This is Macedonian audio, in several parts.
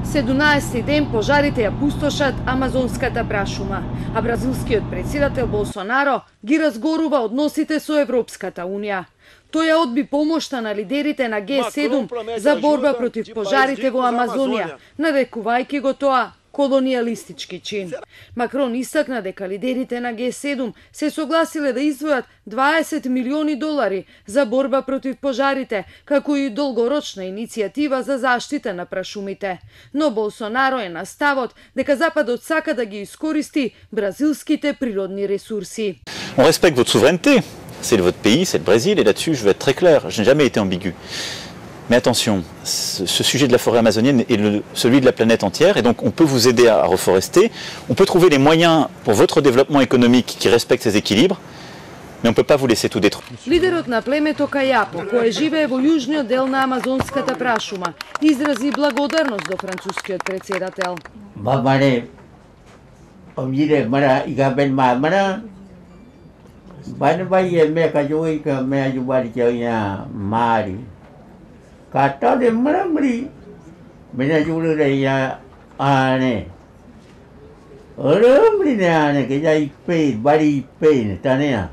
17 ден пожарите ја пустошат амазонската прашума, а бразилскиот председател Болсонаро ги разгорува односите со Европската Унија. Тој ја одби помошта на лидерите на Г7 за борба против пожарите во Амазонија, нарекувајќи го тоа колонијалистички чин. Макрон истакна дека лидерите на Г7 се согласиле да издвојат 20 милиони долари за борба против пожарите, како и долгорочна иницијатива за заштита на прашумите. Но Болсонаро е на ставот дека Западот сака да ги искористи бразилските природни ресурси. On respecte votre souveraineté, c'est votre pays, c'est le Brésil, et là-dessus je veux être très clair, je n'ai jamais été ambigu. Mais attention, ce sujet de la forêt amazonienne est celui de la planète entière, et donc on peut vous aider à reforester, on peut trouver les moyens pour votre développement économique qui respecte ces équilibres, mais on ne peut pas vous laisser tout détruire. Лидерот на племето Кајапо, кој живее во јужниот дел на амазонската прашума, изрази благодарност до францускиот председател. Мамаре, помире мара игабен мамара, банбаје мека јоика ме ајубари ќаја мари. Kata dia meramri, benda julu dia ane. Meramri ne ane ke jai pe, bari pe tania.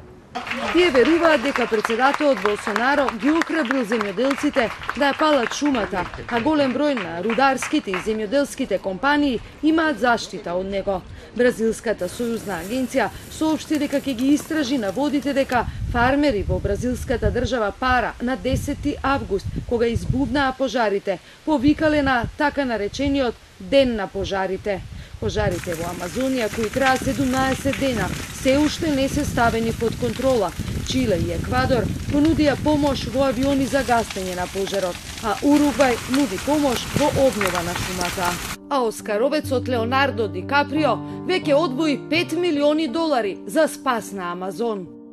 Тие веруваат дека председателот Болсонаро ги охрабрил земјоделците да ја палат шумата, а голем број на рударските и земјоделските компании имаат заштита од него. Бразилската сојузна агенција соопшти дека ќе ги истражи наводите дека фармери во бразилската држава Пара на 10 август, кога избуднаа пожарите, повикале на така наречениот Ден на пожарите. Пожарите во Амазонија, кои траат 17 дена, се уште не се ставени под контрола. Чиле и Еквадор понудија помош во авиони за гасење на пожарот, а Уругвај нуди помош во обнова на шумата. А оскаровецот Леонардо Ди Каприо веќе одвои 5 милиони долари за спас на Амазон.